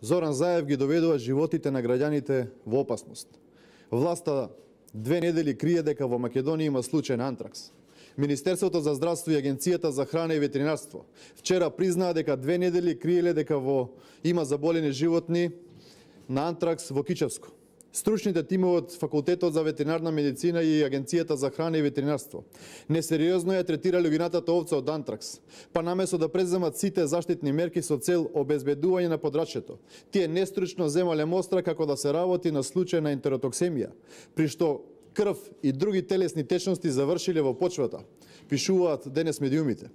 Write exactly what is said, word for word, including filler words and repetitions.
Зоран Заев ги доведува животите на граѓаните во опасност. Власта две недели крие дека во Македонија има случај на антракс. Министерството за здравство и Агенцијата за храна и ветеринарство вчера признаа дека две недели криеле дека во има заболени животни на антракс во Кичевско. Стручните тимови од Факултетот за ветеринарна медицина и Агенцијата за храна и ветеринарство несериозно ја третирале огинатата овца од антракс, па наместо да преземат сите заштитни мерки со цел обезбедување на подрачјето, тие нестручно земале мостра како да се работи на случај на ентеротоксемија, при што крв и други телесни течности завршиле во почвата, пишуваат денес медиумите.